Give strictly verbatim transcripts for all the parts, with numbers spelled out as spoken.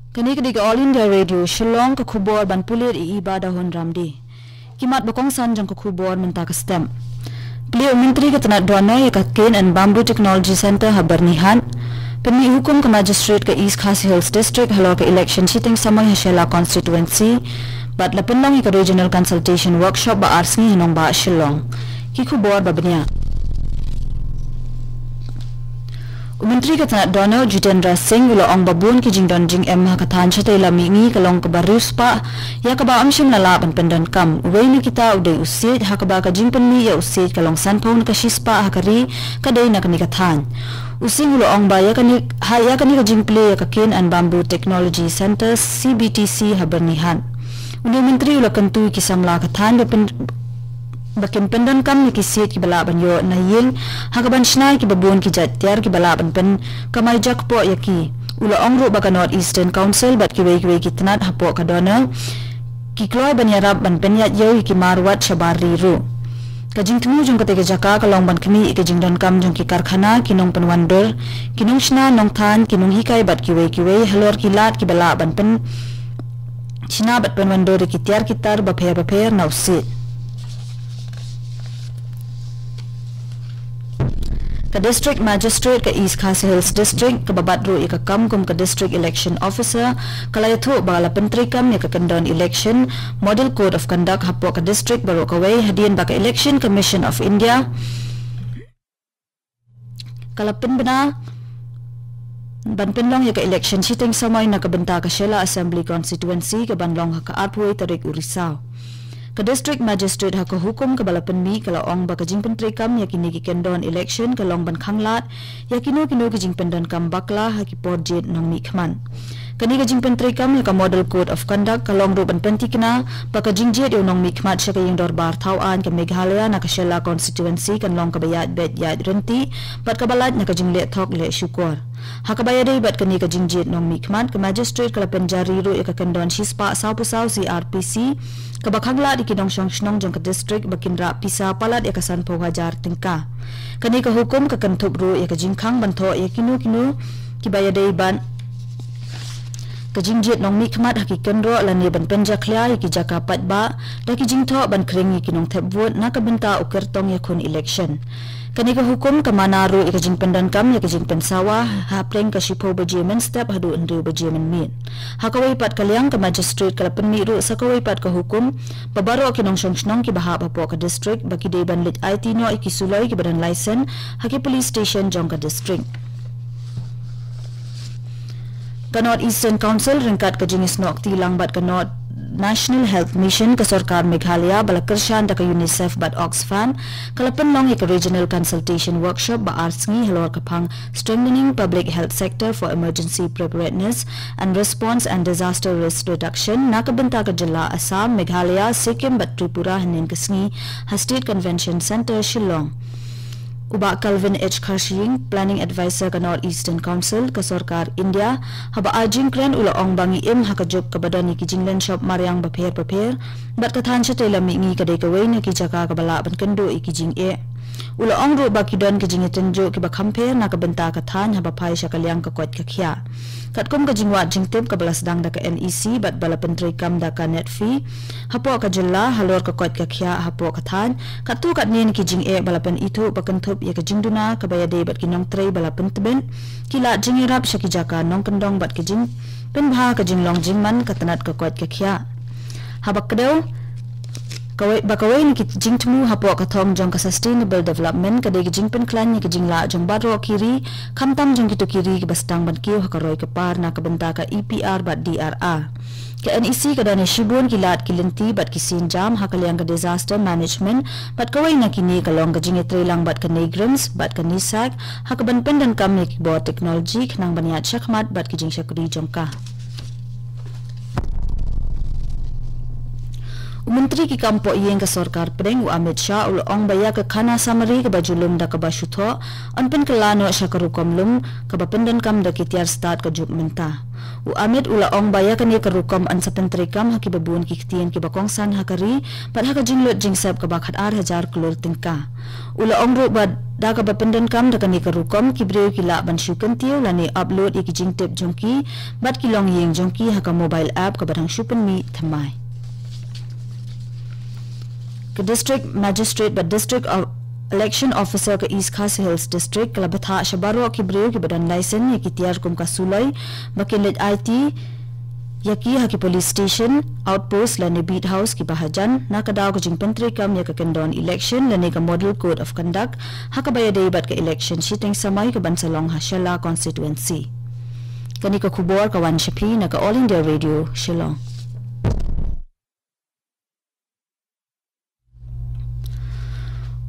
Kane ka dei ka All India Radio Shillong, ka khubor ban pulit i Iba Dahun Ramdi. Ki mat ba kongsan jong ka khubor mynta ka step. Plie u Myntri ka tnat donor ïa ka Cane and Bamboo Technology Centre ha Byrnihat. Pynmih hukum ka Magistrate ka East Khasi Hills District halor ka election shiteng samoi ha Shella Constituency. Bad la pynlong ïa ka Regional Consultation Workshop ba ar sngi ha nongbah Shillong. Ki khubor ba bniah. U Myntri ka tnat donor Jitendra Singh u la ong ba bun ki jingdon jingem ha ka thaiñ shatei lam mihngi ka long kaba riewspah, ïa kaba ym shym la lah ban pyndonkam. Uwei na kita u dei u siej, ha kaba ka jingpynmih ïa u siej ka long sanphew na ka shispah ha ka ri, ka dei na kane ka thaiñ. U Singh u la ong ba ïa kane, ha ïa kane ka jingplie ïa ka Cane and Bamboo Technology Centre, C B T C, ha Byrnihat. Une u Myntri u la kyntu ïa ki samla ka thaiñ ba pyn, ba kin pyndonkam ïa ki siej kiba lah ban ïoh na ïing, ha kaban shna ïa kiba bun ki jait tiar kiba lah ban pynkamai jakpoh ïa ki. U la ong ruh ba ka North Eastern Council bad kiwei kiwei ki tnat hapoh ka donor ki kloi ban ïarap ban pynïaid ïew ïa ki mar wat shabar ri ruh. Ka jingthmu jong katei ka jaka ka long ban khmih ïa ka jingdonkam jong ki karkhana, ki nongpynwandur, ki nongshna nongthaiñ, ki nonghikai bad kiwei kiwei halor ki lad kiba lah ban pyn shna bad pynwandur ïa ki tiar ki tar bapher bapher na u siej. Ka District Magistrate ka East Khasi Hills District, kaba bat ruh ïa ka kam kum ka District Election Officer, ka la ïathuh ba la pyntreikam ïa ka kyndon election Model Code of Conduct hapoh ka district baroh kawei, hadien ba ka Election Commission of India ka la pynbna ban pynlong ïa ka election shiteng samoi na ka bynta ka Shella Assembly Constituency, kaban long ha ka arphew tarik u Risaw. Ka District Magistrate ha ka hukum kaba la pynmih ka la ong ba ka jingpyntreikam ïa kine ki kyndon election ka long ban khanglad ïa kino kino ki jingpyndonkam bakla ha ki por jied nongmihkhmat. Kane ka jingpyntreikam ïa ka Model Code of Conduct ka long ruh ban pynthikna ba ka jingjied ïa u nongmihkhmat sha ka ïing dorbar thaw aiñ ka Meghalaya na ka Shella Constituency kan long kaba ïaid beit ïaid ryntih bad kaba lait na ka jingleh thok leh shukor. Ha kaba ïadei bad kane ka jingjied nongmihkhmat, ka Magistrate ka la pynjari ruh ïa ka kyndon shispah sawphew saw C R P C, kaba khanglad ïa ki nongshong shnong jong ka district ba kin rah pisa palat ïa ka sanphew hajar tyngka. Kane ka hukum ka kynthup ruh ïa ka jingkhang ban thoh ïa kino kino kiba ïadei bad ka jingjied nongmihkhmat ha ki kynroh lane ban pynjakhlia ïa ki jaka paidbah da ki jingthoh ban khring ïa ki nongthep vote na ka bynta u kyrtong ïakhun election. Kane ka hukum ka mana ruh ïa ka jingpyndonkam ïa ka jingpynsawa hapdeng ka shiphew baje mynstep haduh hynriew baje mynmiet. Ha kawei pat ka liang, ka Magistrate ka la pynmih ruh sa kawei pat ka hukum ba baroh ki nongshong shnong kiba hap hapoh ka district ba ki dei ban leit aiti noh ïa ki suloi kiba don license ha ki police station jong ka district. Ka North Eastern Council ryngkat ka jingisnoh kti lang bad ka North National Health Mission, ka sorkar Meghalaya ba la kyrshan da ka UNICEF bad Oxfam, ka la pynlong ïa ka Regional Consultation Workshop ba ar sngi halor ka phang Strengthening Public Health Sector for Emergency Preparedness and Response and Disaster Risk Reduction na ka bynta ka jylla Assam, Meghalaya, Sikkim bad Tripura hynnin ka sngi ha State Convention Centre, Shillong. U Bah Calvin H Kharshiing, Planning Advisor ka North Eastern Council ka sorkar India, haba ai jingkren u la ong ba ngi im ha ka juk kaba don ïa ki jinglynshop mariang bapher bapher bad ka thaiñ shatei lam mihngi ka dei kawei na ki jaka kaba lah ban kynduh ïa ki jingeh. U la ong ruh ba ki don ki jingïatynjuh kiba kham pher na ka bynta ka thaiñ haba phai sha ka liang ka koit ka khiah. Katkum ka jingwad jingtip kaba la sdang da ka NEC bad ba la pyntreikam da ka NEDFI hapoh ka jylla halor ka koit ka khiah hapoh ka thaiñ, katto katne na ki jingeh ba la pynithuh ba kynthup ïa ka jingduna kaba ïadei bad ki nongtrei ba la pyntbit, ki lad jingïarap sha ki jaka nongkyndong bad ki jingpynbha ka jinglong jingman ka tnat ka koit ka khiah. Haba kdew kawei, ba kawei na ki jingthmu hapoh ka thong jong ka Sustainable Development ka dei ka jingpynkhlaiñ ïa ka jinglah jong baroh ki ri, khamtam jong kito ki ri kiba sdang ban kiew ha ka roi ka par na ka bynta ka EPR bad DRR. Ka NEC ka don ïa shibun ki lad ki lynti bad ki sienjam ha ka liang ka disaster management bad kawei na kine ka long ka jingïatreilang bad ka NEIGRIHMS bad ka NESAC ha kaban pyndonkam ïa ki bor technology khnang ban ïaid shakhmat bad ki jingshakri jong ka. U Myntri Tri ki kam poh ïing ka sorkar pdeng u Amit Shah u la ong ba ïa ka khana samari kaba ju lum da kaba shu thoh, yn pynkylla noh sha ka rukom lum kaba pyndonkam da ki tiar stad ka juk mynta. U Amit u la ong ba ïa kane ka rukom yn sa pyntreikam ha kiba bun ki ktien kiba kongsan ha ka ri, bad ha ka jinglut jingsep kaba khat ar hajar klur tyngka. U la ong ruh ba da kaba pyndonkam da kane ka rukom ki briew ki lah ban shu kyntiew lane upload ïa ki jingtip jong ki bad ki longïing jong ki ha ka mobile app kaba dang shu pynmih thymmai. Ka District Magistrate bad District of Election Officer ka East Khasi Hills District ka la bthah sha baroh ki briew kiba don license ïa ki tiar kum ka suloi ba kin leit aiti ïa ki ha ki police station, outpost lane beat house kiba hajan na ka daw ka jingpyntreikam ïa ka kyndon election lane ka Model Code of Conduct ha kaba ïadei bad ka election shiteng samoi kaban sa long ha Shella constituency. Kane ka khubor ka wan sha phi na ka All India Radio Shillong.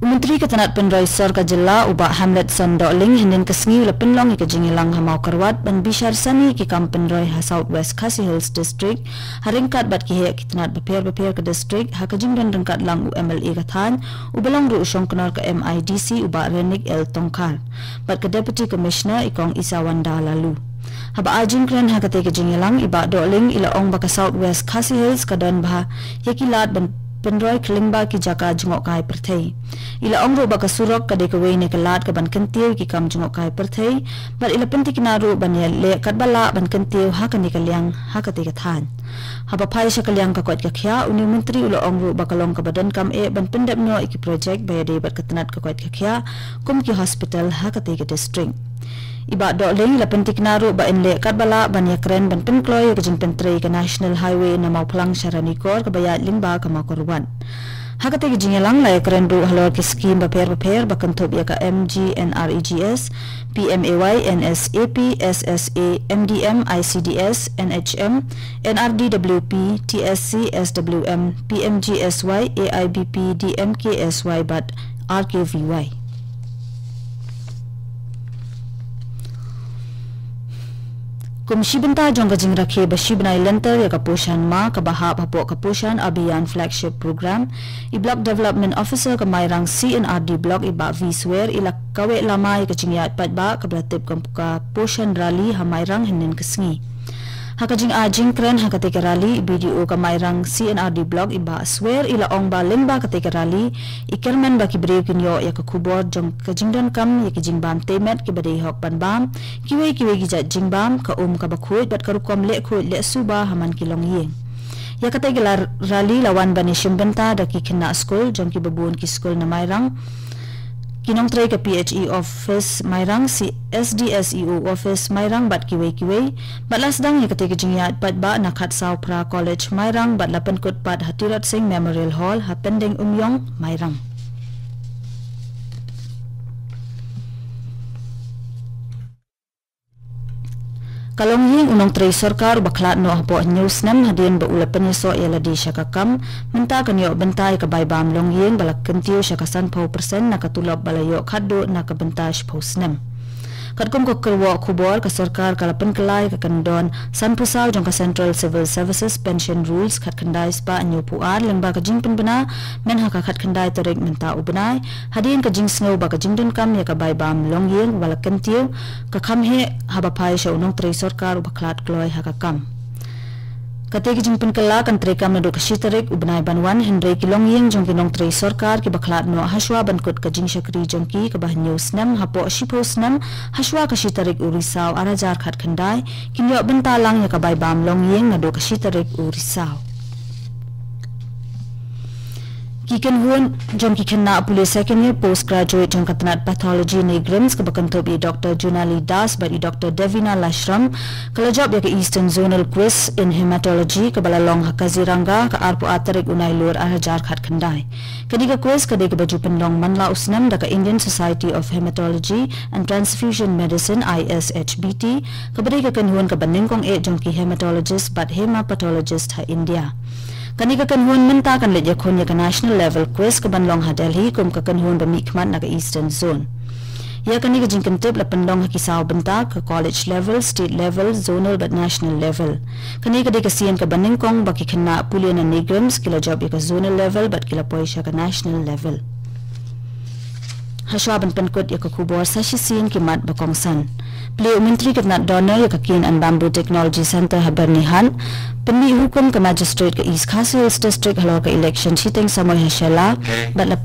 U Myntri ka tnat pynroi sor ka jylla u Bah Hamletson Dohling hynnin ka sngi u la pynlong ïa ka jingïalang ha Mawkyrwat ban bishar sani ïa ki kam pynroi ha South West Khasi Hills District, ha ryngkat bad ki heh ki tnat bapher bapher ka district, ha ka jingdon ryngkat lang u M L A ka thaiñ, uba long ruh u shongknor ka M I D C u Bah Renick L Tongkhar bad ka Deputy Commissioner i Kong Isawanda Laloo. Haba ai jingkren ha katei ka jingïalang, i Bah Dohling i la ong ba ka South West Khasi Hills ka don bha ïa ki lad ban pynroi khlem bad ki jaka jngohkai pyrthei. I la ong ruh ba ka surok ka dei kawei na ki lad kaban kyntiew ïa ki kam jngohkai pyrthei, bad i la pyntikna ruh ban ïaleh katba lah ban kyntiew ha kane ka liang ha katei ka thaiñ. Haba phai sha ka liang ka koit ka khiah, une u Myntri u la ong ruh ba ka long kaba donkam eh ban pyndep noh ïa ki projek ba ïadei bad ka tnat ka koit ka khiah kum ki hospital ha katei ka district. I Bah Dohling i la pyntikna ruh ba yn leh katba lah ban ïakren ban pynkloi ïa ka jingpyntrei ka National Highway na Mawphlang sha Ranikor kaba ïaid lyngba ka Mawkyrwat. Ha katei ka jingïalang la ïakren ruh halor ki skim bapher bapher ba kynthup ïa ka M G N R E G S, P M A Y, N S A P, S S A, M D M, I C D S, N H M, N R D W P, T S C, S W M, P M G S Y, A I B P, D M K S Y bad R K V Y. Kum shi bynta jong ka jingrakhe ba shi bnai lynter ïa ka Poshan Maah kaba hap hapoh ka Poshan Abhiyan Flagship Program, i Block Development Officer ka Mairang C and R D Block i Bah V Swer i la kaweh lama ïa ka jingïaid paidbah kaba la tip kum ka Poshan Rally ha Mairang hynnin ka sngi. Ha ka jingai jingkren ha katei ka rally, i B D O ka Mairang C and R D Block i Bah Swer i la ong ba lyngba katei ka rally, i kyrmen ba ki briew kin ïoh ïa ka khubor jong ka jingdonkam ïa ki jingbam tei met kiba dei hok ban bam, kiwei kiwei ki jait jingbam, ka um kaba khuid bad ka rukom leh khuid leh suba ha man ki longïing. Ïa katei ka la rally la wan ban ïashim bynta da ki khynnah skul jong kiba bun ki skul na Mairang, ki nongtrei ka P H E Office Mairang, C, S D S E O Office Mairang bad kiwei kiwei, bad la sdang ïa katei ka jingïaid paidbah na Khatsawphra College Mairang bad la pynkut pat ha Tirot Sing Memorial Hall ha Pending Umïong Mairang. Ka longïing u nongtrei sorkar uba khlad noh hapoh hynñiew snem hadien ba u la pynïasoh ïa lade sha ka kam, mynta kan ïoh bynta ïa ka bai bam longïing ba la kyntiew sha ka sanphew percent na ka tulop ba la ïoh khatduh na ka bynta shiphew snem. Katkum ka kyrwoh khubor, ka sorkar ka la pynkylla ïa ka kyndon sanphew saw jong ka Central Civil Services Pension Rules khatkhyndai spah hynñiewphew ar lyngba ka jingpynbna mynha ka khatkhyndai tarik mynta u bnai, hadien ka jingsngew ba ka jingdonkam ïa ka bai bam longïing ba la kyntiew ka kham heh haba phai sha u nongtrei sorkar uba khlad kloi ha ka kam. Katei ka jingpynkylla kan treikam naduh ka shi tarik u bnai ban wan, hynrei ki longïing jong ki nongtrei sorkar kiba khlad noh hashwa ban kut ka jingshakri jong ki kaba hynñiew snem hapoh shiphew snem hashwa ka shi tarik u Risaw ar hajar khatkhyndai, kin ïoh bynta lang ïa ka bai bam longïing naduh ka shi tarik u Risaw. Ki kynhun jong ki khynnah pule second year postgraduate jong ka tnat pathology NEIGRIHMS kaba kynthup i Doctor Junali Das bad i Doctor Davina Lashram ka la jop ïa ka Eastern Zonal Quiz in Hematology kaba la long ha Kaziranga ka arphew ar tarik u Nailur ar hajar khatkhyndai. Kane ka quiz ka dei kaba ju pynlong man la u snem da ka Indian Society of Hematology and Transfusion Medicine, I S H B T, kaba dei ka kynhun kaba nyngkong eh jong ki hematologist bad hemapathologist ha India. Kane ka kynhun mynta kan leit ïakhun ïa ka national level quiz kaban long ha Delhi kum ka kynhun ba mihkhmat na ka Eastern Zone. Ïa kane ka jingkyntip la pynlong ha ki saw bynta, ka college level, state level, zonal bad national level. Kane ka dei ka sien kaba nyngkong ba ki khynnah pule na NEIGRIHMS ki la jop ïa ka zonal level bad ki la poi sha ka national level. Hashwa ban pynkut ïa ka khubor sa shisien ki mat ba kongsan. Plie u Myntri ka tnat DoNER ïa ka Cane and Bamboo Technology Centre ha Byrnihat. Pynmih hukum ka Magistrate ka East Khasi Hills District halor ka election shiteng samoi ha Shella bad la